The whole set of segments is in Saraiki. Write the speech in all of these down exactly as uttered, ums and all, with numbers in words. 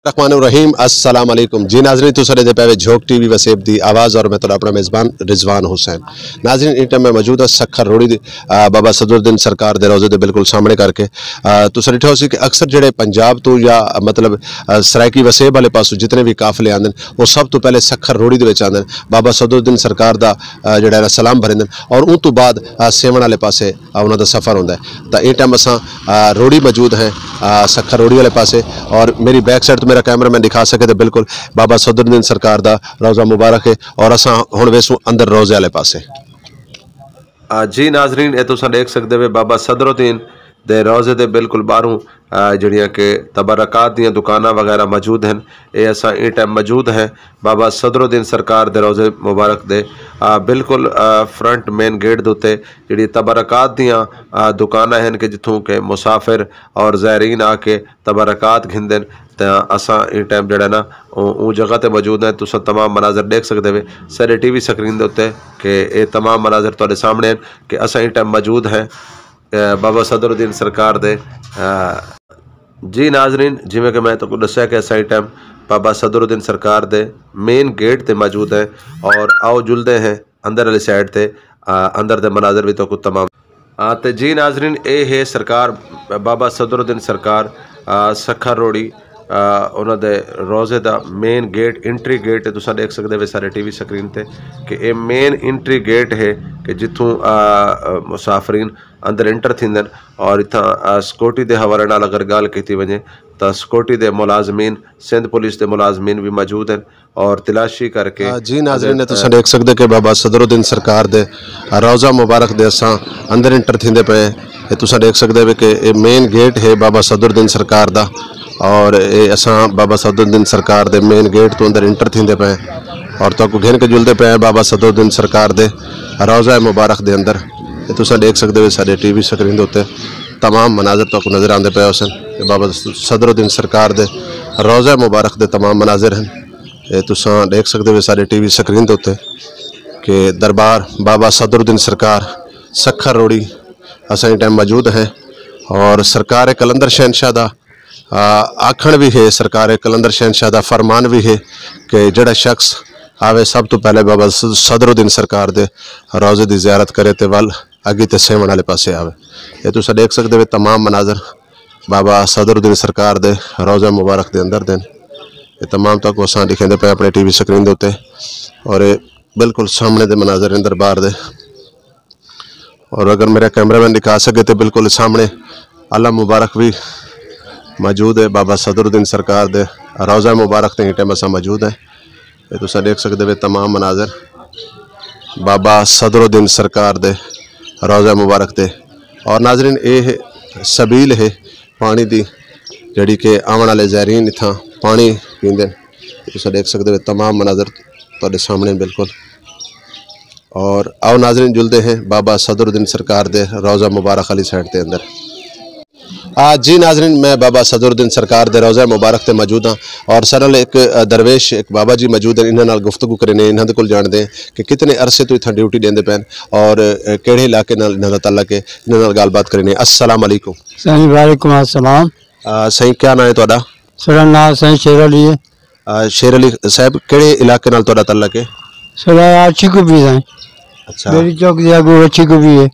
الرحمن الرحیم، السلام علیکم جی ناظرین، تساں ݙیہدے پئے وے جھوک ٹی وی وسیب دی آواز اور میں تہاݙا اپݨا میزبان رضوان حسین۔ ناظرین، ایں ٹائم میں موجود ہاں سکھر روڑی دی، آ، بابا صدر الدین سرکار دے روضے دے بالکل سامݨے کر کے، آ، تساں ݙٹھا ہوسی کہ اکثر جڑے پنجاب توں یا، مطلب، آ، سرائیکی وسیب والے پاسوں جتنے وی قافلے آندن، او سب توں پہلے سکھر روڑی دے وچ آندن، بابا صدر الدین سرکار دا، آ، جڑا ہے نا سلام بھریندن اور اوں توں بعد، آ، سیوݨ والے پاسے آ، انہاں دا سفر ہوندا ہے۔ تاں ایں ٹائم اساں، آ، روڑی موجود ہیں، آ، سکھر روڑی والے پاسے، اور میری بیک سائیڈ تو میرا کیمرہ مین ݙکھا سکے تے بالکل بابا صدر الدین سرکار دا روضہ مبارک ہے، اور اساں ہݨ ویسوں اندر روضے والے پاسے۔ آ، جی ناظرین، اے تساں ݙیکھ سڳدے وے بابا صدر الدین دے روضے دے بالکل ٻاہروں، آ، جڑیاں کہ تبرکات دیاں دکاناں وغیرہ موجود ہیں۔ اے اساں ایں ٹائم موجود ہیں بابا صدر الدین سرکار دے روضے مبارک دے، آ، بالکل، آ، فرنٹ مین گیٹ دے اتے جڑی تبرکات دیاں، آ، دکاناں ہن کہ جتھوں کہ مسافر اور زائرین آ کے تبرکات گھندن۔ تاں اساں ایں ٹائم جڑا نا او، اوں جگہ تے موجود ہیں۔ تساں تمام مناظر ݙیکھ سڳدے وے سارے ٹی وی سکرین دے اتے کہ اے تمام مناظر تہاݙے سامݨے ہن کہ اساں ایں ٹائم موجود ہیں، اے، بابا صدر الدین سرکار دے، آ، جی ناظرین، جیویں کہ میں تہاکوں ݙسیا کہ اساں ایں ٹائم بابا صدر الدین سرکار دے مین گیٹ تے موجود ہیں اور آؤ جلدے ہیں اندر والی سائیڈ تے، آ، اندر دے مناظر وی تہاکوں تمام۔ آ، تے جی ناظرین، اے ہے سرکار بابا صدر الدین سرکار، آ، سکھر روڑی، آ، انہاں دے روضے دا مین گیٹ، انٹری گیٹ ہے۔ تساں ݙیکھ سڳدے وے سارے ٹی وی سکرین تے کہ اے مین انٹری گیٹ ہے کہ جتھوں، آ، آ، مسافرین اندر انٹر تھیندن۔ اور اتھاں، آ، سیکورٹی دے حوالے نال اگر ڳالھ کیتی ونڄے تاں سیکورٹی دے ملازمین، سندھ پولیس دے ملازمین وی موجود ہن اور تلاشی کر کے آ، جی ناظرین، اگر، تساں ݙیکھ سڳدے کہ بابا صدر الدین سرکار دے روضہ مبارک دے اساں اندر انٹر تھیندے پئے ہیں۔ اے تساں ݙیکھ سڳدے وے کہ اے مین گیٹ ہے بابا صدر الدین سرکار دا، اور اے اساں بابا صدر الدین سرکار دے مین گیٹ توں اندر انٹر تھیندے پئے ہیں اور تہاکوں گھن کے جلدے پئے ہیں بابا صدر الدین سرکار دے روضہ مبارک دے اندر۔ اے تساں ݙیکھ سڳدے وے ساݙے ٹی وی سکرین دے اتے تمام مناظر تہاکوں نظر آندے پئے ہوسن۔ اے بابا صدر الدین سرکار دے روضہ مبارک دے تمام مناظر ہن۔ اے تساں ݙیکھ سڳدے وے ساݙے ٹی وی سکرین دے اتے کہ دربار بابا صدر الدین سرکار سکھر روڑی اساں ایں ٹائم موجود ہیں، اور سرکار قلندر شہنشاہ دا، آ، آکھݨ وی ہے، سرکار قلندر شہنشاہ دا فرمان وی ہے کہ جڑا شخص آوے سب توں پہلے بابا صدر الدین سرکار دے روضے دی زیارت کرے تے ول اڳی تے سیوݨ والے پاسے آوے۔ اے تساں ݙیکھ سڳدے وے تمام مناظر بابا صدر الدین سرکار دے روضہ مبارک دے اندر دے ہن۔ اے تمام تہاکوں اساں ݙکھیندے پئے اپݨے ٹی وی سکرین دے اتے، اور اے بالکل سامݨے دے مناظر ہن دربار دے۔ اور اگر میرا کیمرہ مین ݙکھا سڳے تے بالکل سامݨے علم مبارک وی موجود ہے، بابا صدر الدین سرکار دے روضہ مبارک تے ایں ٹائم اساں موجود ہیں۔ اے تساں ݙیکھ سڳدے وے تمام مناظر بابا صدر الدین سرکار دے روضہ مبارک تے۔ اور ناظرین، اے ہے سبیل ہے پاݨی دی، جڑی کہ آوݨ والے زائرین اتھاں پاݨی پیندے۔ اے تساں ݙیکھ سڳدے وے تمام مناظر تہاݙے سامݨے بالکل۔ اور آؤ ناظرین، جلدے ہیں بابا صدر الدین سرکار دے روضہ مبارک والی سائیڈ تے اندر۔ آ، جی ناظرین، میں بابا صدر الدین سرکار دے روضہ مبارک تے موجود ہاں، اور سارے نال ایک، آ، درویش، ایک بابا جی موجود ہیں، انہاں نال گفتگو کرینے، انہاں دے کول جاݨدے ہیں کہ کتنے عرصے تو اتھاں ڈیوٹی ݙیندے پئے ہن اور، آ، کیڑھے علاقے نال انہاں دا تعلق ہے، انہاں نال ڳالھ بات کرینے۔ السلام علیکم۔ سائیں، وعلیکم السلام۔ آ، سائیں، کیا نام ہے تہاݙا؟ ساݙا نام سائیں شیر علی ہے۔ آ، شیر علی صاحب، کیڑھے علاقے نال تہاݙا تعلق ہے؟ ساݙا اچھی کبھی ہے۔ اچھا۔ میری چوک دے اڳوں اچھی کبھی ہے۔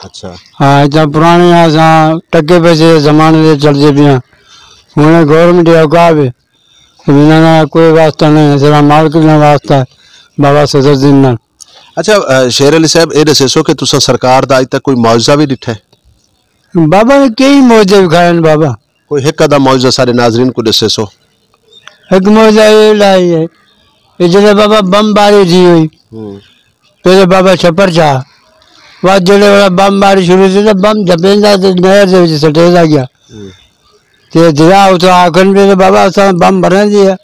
اچھا۔ ہاں، اتنا پرانے اساں ٹکے پیسے دے زمانے دے چلدے پئے ہاں۔ ہݨ گورنمنٹ دے اوقاف ہے۔ انہاں نال کوئی واسطہ نہیں، ساݙا مالک نال واسطہ ہے، بابا صدر الدین نال۔ اچھا، آ، شیر علی صاحب، اے ݙسیسو کہ تساں سرکار دا اڄ تک کوئی معجزہ وی ݙٹھا ہے؟ بابا نے کئی معجزے وکھائے ہن بابا۔ کوئی ہک ادھا معجزہ سارے ناظرین کوں ݙسیسو۔ ہک معجزہ اے لائی ہے، اے جڑے بابا بم باری تھی ہوئی، ہوں۔ پہلے بابا چھپر چھا، بعد جڑے والا بم باری شروع تھی تے بم جھپیندا تے نہر دے وچ سٹیندا ڳیا۔ ہوں۔ تے دریا اتھاں آکھن پئے تے بابا اساں بم بھرݨ دی ہے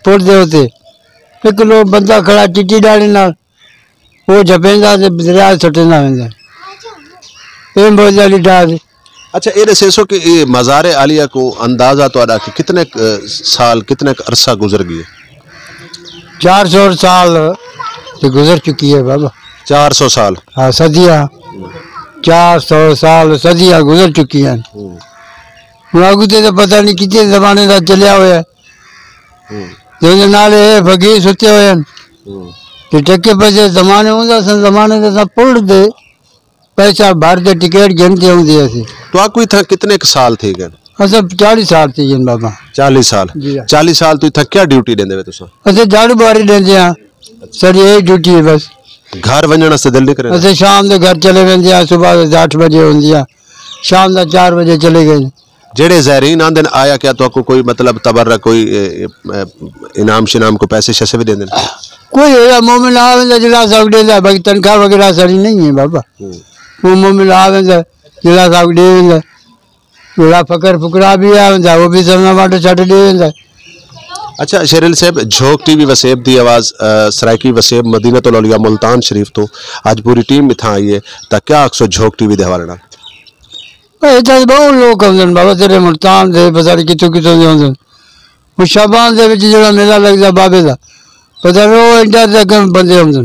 پل دے اتے۔ ہک لوک بندہ کھڑا چٹی ݙاڑھی نال، او جھپیندا تے دریا سٹیندا ویندا۔ اے معجزہ ݙٹھا سی۔ اچھا، اے ݙسیسو کہ اے مزار عالیہ کوں اندازہ تہاݙا کہ کتنے ک، آ، سال، کتنے ک عرصہ گزر ڳئے؟ چار سو سال تے گزر چکی ہے بابا۔ چار سو سال؟ ہاں، صدیاں۔ چار سو سال، صدیاں گزر چکی ہیں۔ ہوں۔ ہݨ اڳوں تے تاں پتہ نہیں کتنے زمانے دا چلیا ہویا ہے۔ جیندے نال اے فقیر ستے ہوئے ہن۔ تے ٹکے پیسے زمانے ہوندا سن، زمانے دے تاں پل دے پیسہ بھر تے ٹکٹ گھن تے ہوندی ہسی۔ تہاکوں اتھاں کتنے ک سال تھی ڳئے؟ اساں چالیس سال تھی ڳئے بابا۔ چالیس سال؟ جی ہاں۔ چالیس سال توں اتھاں کیا ڈیوٹی ݙیندے وے تساں؟ اساں جھاڑو بوہاری ݙیندے ہاں، ساݙی اے ڈیوٹی ہے بس۔ گھر ونڄݨ واسطے دل نہیں کریندا؟ اساں شام دے گھر چلے ویندے ہاں، صبح دے اٹھ بجے ہوندی ہاں، شام دا چار بجے چلے ڳئے۔ جیڑھے زائرین آندن، آیا کیا تہاکوں کوئی مطلب تبرک، کوئی، اے، اے، اے، انعام شنعام، کوئی پیسے شیسے وی ݙیندن؟ کوئی ایہا مومن آ ویندا جیڑھا ساکوں ݙیندا، باقی تنخواہ وغیرہ ساݙی نہیں ہے بابا۔ ہوں۔ او مومن آ ویندا جیڑھا ساکوں ݙے ویندا۔ جیڑھا فقر فقرا بھی آ ویندا، او بھی سرنا وانڈ چھٹ ݙے ویندا۔ اچھا شیر علی صاحب، جھوک ٹی وی وسیب دی آواز، آ، سرائیکی وسیب مدینۃ الاولیاء ملتان شریف توں اڄ پوری ٹیم اتھاں آئی ہے، تاں کیا آکھسو جھوک ٹی وی دے حوالے نال؟ اے اتھاں تے ٻہوں لوک آندن بابا، تیرے ملتان دے، پتہ نہیں کتھوں کتھوں دے آندن۔ او شعبان دے وچ جیڑھا میلہ لڳدا بابے دا، پتہ نہیں او انڈیا دے کم بندے آندن۔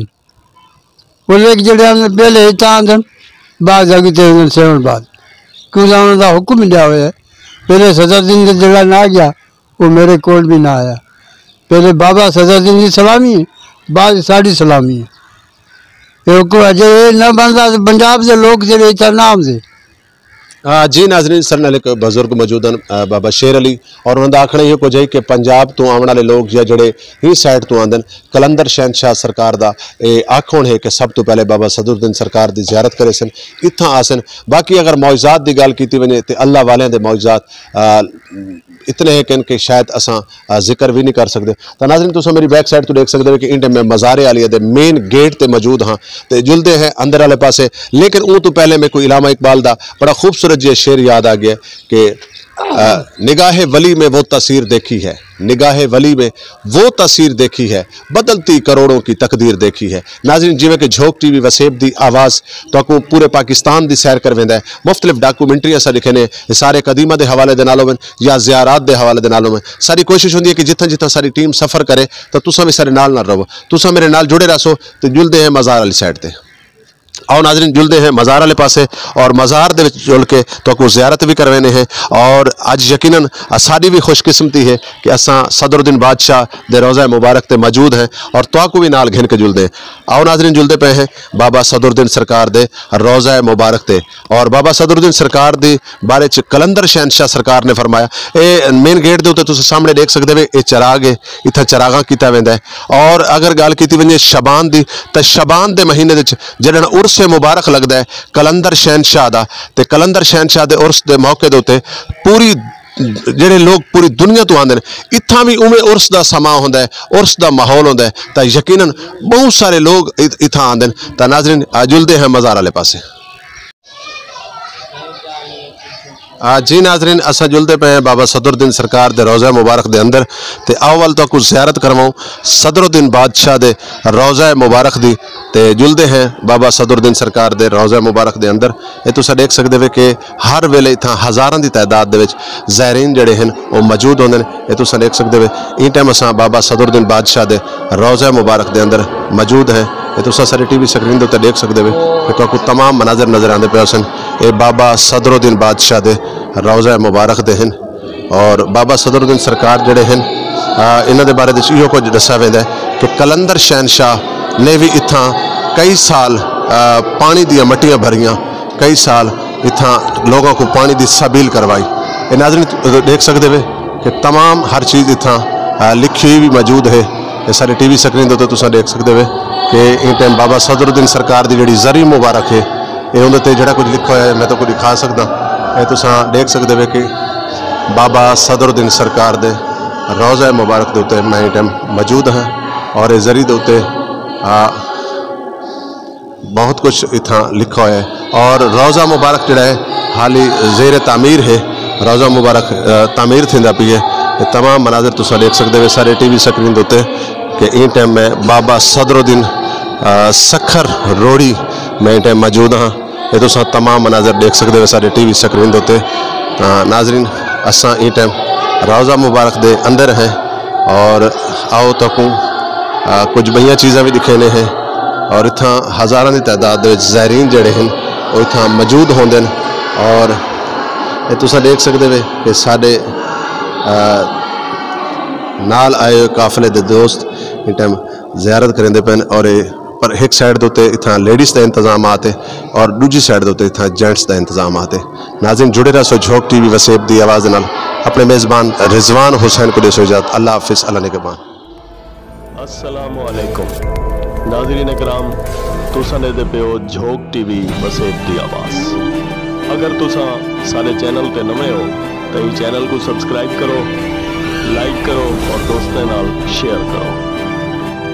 او لوک جیڑھے آندن پہلے اتھاں آندن، بعد اڳتے آندن سیون بعد۔ کیوں جو انہاں دا حکم ملیا ہویا ہے۔ پہلے صدر دین دے جیڑھا نہ ڳیا، او میرے کول بھی نہ آیا۔ پہلے بابا صدر دین دی سلامی ہے، بعد ساݙی سلامی ہے۔ اے حکم اجے اے نہ بݨدا تے پنجاب دے لوک جیڑھے اتھاں نہ آندے۔ آ، جی ناظرین، ساݙے نال ہک بزرگ موجود ہن، آ، بابا شیر علی، اور انہاں دا آکھݨا ایہو کجھ ہے کہ پنجاب توں آوݨ والے لوگ یا جیڑھے ہی سائیڈ توں آندن، قلندر شہنشاہ سرکار دا اے آکھݨ ہے کہ سب توں پہلے بابا صدر الدین سرکار دی زیارت کریسن، اتھاں آسن۔ باقی اگر معجزات دی ڳالھ کیتی ونڄے تے اللہ والیاں دے معجزات، آ، اتنے ہیں کہ ان کے شاید اساں، آ، ذکر وی نہیں کر سڳدے۔ تاں ناظرین، تساں میری بیک سائیڈ توں ݙیکھ سڳدے ہو کہ ایں ٹائم میں مزار عالیہ دے مین گیٹ تے موجود ہاں تے جلدے ہیں اندر والے پاسے۔ لیکن اوں توں پہلے میکوں علامہ اقبال دا بڑا خوبصورت جیہا شعر یاد آ ڳیا کہ، آ، نگاہ ولی میں وہ تاثیر دیکھی ہے، نگاہ ولی میں وہ تاثیر دیکھی ہے، بدلتی کروڑوں کی تقدیر دیکھی ہے۔ ناظرین، جیویں کہ جھوک ٹی وی وسیب دی آواز تہاکوں پورے پاکستان دی سیر کرویندا ہے، مختلف ڈاکومنٹری اساں ݙکھیندے ہیں، آثار قدیمہ دے حوالے دے نال ہوون یا زیارات دے حوالے دے نال ہوون۔ ساݙی کوشش ہوندی ہے کہ جتھاں جتھاں ساݙی ٹیم سفر کرے تاں تساں وی ساݙے نال نال رہو، تساں میرے نال جڑے رہسو تے جلدے ہیں مزار والی سائیڈ تے۔ آؤ ناظرین، جلدے ہیں مزار والے پاسے اور مزار دے وچ جل کے تہاکوں زیارت وی کرویندے ہیں۔ اور اڄ یقیناً اساݙی وی خوش قسمتی ہے کہ اساں صدر الدین بادشاہ دے روضہ مبارک تے موجود ہیں اور تہاکوں وی نال گھن کے جلدے ہیں۔ آؤ ناظرین، جلدے پئے ہیں بابا صدر الدین سرکار دے روضہ مبارک تے۔ اور بابا صدر الدین سرکار دی بارے چ قلندر شہنشاہ سرکار نے فرمایا، اے مین گیٹ دے اُتے تساں سامݨے ݙیکھ سڳدے وے، اے چراغ ہے، اتھاں چراغاں کیتا ویندا ہے۔ اور اگر ڳالھ کیتی ونڄے شعبان دی، تاں شعبان دے مہینے وچ جݙݨ عرس مبارک لڳدا ہے قلندر شہنشاہ دا، تے قلندر شہنشاہ دے عرس دے موقع دے اُتے پوری، جیڑھے لوگ پوری دنیا توں آندے نے، اتھاں وی اونویں عرس دا سماں ہوندا ہے، عرس دا ماحول ہوندا ہے، تاں یقیناً ٻہوں سارے لوگ ات-، اتھاں آندے نے۔ تاں ناظرین، آ جلدے ہیں مزار والے پاسے۔ آ، جی ناظرین، اساں جلدے پئے ہیں بابا صدر الدین سرکار دے روضہ مبارک دے اندر، تے آؤ ول تہاکوں زیارت کرواؤں صدر الدین بادشاہ دے روضہ مبارک دی۔ تے جلدے ہیں بابا صدر الدین سرکار دے روضہ مبارک دے اندر۔ اے تساں ݙیکھ سڳدے وے کہ ہر ویلے اتھاں ہزاراں دی تعداد دے وچ زائرین جیڑھے ہن، او موجود ہوندے نے۔ اے تساں ݙیکھ سڳدے وے، ایں ٹائم اساں بابا صدر الدین بادشاہ دے روضہ مبارک دے اندر موجود ہیں۔ اے تساں ساݙی ٹی وی سکرین دے اُتے ݙیکھ سڳدے وے کہ تہاکوں تمام مناظر نظر آندے پئے ہوسن۔ اے بابا صدر الدین بادشاہ دے روضہ مبارک دے ہن۔ اور بابا صدر الدین سرکار جیڑھے ہن، آ، انہاں دے بارے وچ ایہو کجھ ݙسیا ویندا ہے کہ قلندر شہنشاہ نے وی اتھاں کئی سال، آ، پاݨی دیاں مٹیاں بھریاں، کئی سال اتھاں لوگاں کوں پاݨی دی سبیل کروائی۔ اے ناظرین ݙیکھ سڳدے وے کہ تمام ہر چیز اتھاں، آ، لکھی ہوئی وی موجود ہے۔ اے ساݙے ٹی وی سکرین دے اُتے تساں ݙیکھ سڳدے وے کہ ایں ٹائم بابا صدر الدین سرکار دی جیڑھی زری مبارک ہے، اے اوندے تے جیڑھا کجھ لکھا ہویا ہے، میں تہاکوں ݙکھا سڳداں۔ اے تساں ݙیکھ سڳدے وے کہ بابا صدر الدین سرکار دے روضہ مبارک دے اُتے میں ایں ٹائم موجود ہاں اور اے زری دے اُتے، آ، بہت کجھ اتھاں لکھا ہویا ہے۔ اور روضہ مبارک جیڑھا ہے، حالی زیر تعمیر ہے۔ روضہ مبارک، آ، تعمیر تھیندا پئی ہے۔ اے تمام مناظر تساں ݙیکھ سڳدے وے ساݙے ٹی وی سکرین دے اُتے کہ ایں ٹائم میں بابا صدر الدین، آ، سکھر روڑی میں ایں ٹائم موجود ہاں۔ اے تساں تمام مناظر ݙیکھ سڳدے وے ساݙے ٹی وی سکرین دے اُتے۔ آ، ناظرین، اساں ایں ٹائم روضہ مبارک دے اندر ہیں اور آؤ تہاکوں، آ، کجھ ٻئیاں چیزاں وی ݙکھیندے ہیں۔ اور اتھاں ہزاراں دی تعداد دے وچ زائرین جیڑھے ہن، او اتھاں موجود ہوندے ہن۔ اور اے تساں ݙیکھ سڳدے وے کہ ساݙے، آ، نال آئے ہوئے قافلے دے دوست ان ٹائم زیارت کریندے پئن اور اے پر ہک سائیڈ دے اتے اتھاں لیڈیز دا انتظامات ہے اور ݙوجھی سائیڈ دے اتے اتھاں جینٹس دا انتظامات ہے۔ ناظرین جڑے رہسو جھوک ٹی وی وسیب دی آواز نال۔ اپݨے میزبان رضوان حسین کوں ݙیسو اجازت۔ اللہ حافظ، اللہ نگہبان۔ السلام علیکم ناظرین کرام، تساں ݙیہدے پیو جھوک ٹی وی وسیب دی آواز۔ اگر تساں ساݙے چینل تے نویں ہو تاں ایں چینل کوں سبسکرائب کرو، لائک کرو اور دوستاں نال شیئر کرو۔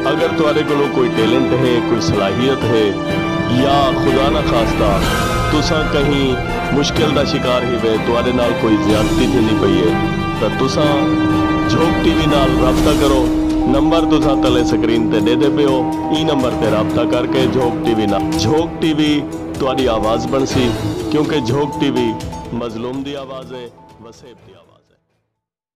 اگر تہاݙے کولوں کوئی ٹیلنٹ ہے، کوئی صلاحیت ہے یا خدا نہ خواستہ تساں کہیں مشکل دا شکار ہیوے، تہاݙے نال کوئی زیادتی تھیندی پئی ہے تاں تساں جھوک ٹی وی نال رابطہ کرو۔ نمبر تساں تلے سکرین تے ݙیہدے پیو، ایں نمبر تے رابطہ کر کے جھوک ٹی وی نال جھوک ٹی وی تہاݙی آواز بݨسی، کیونکہ جھوک ٹی وی مظلوم دی آواز ہے، وسیب دی آواز۔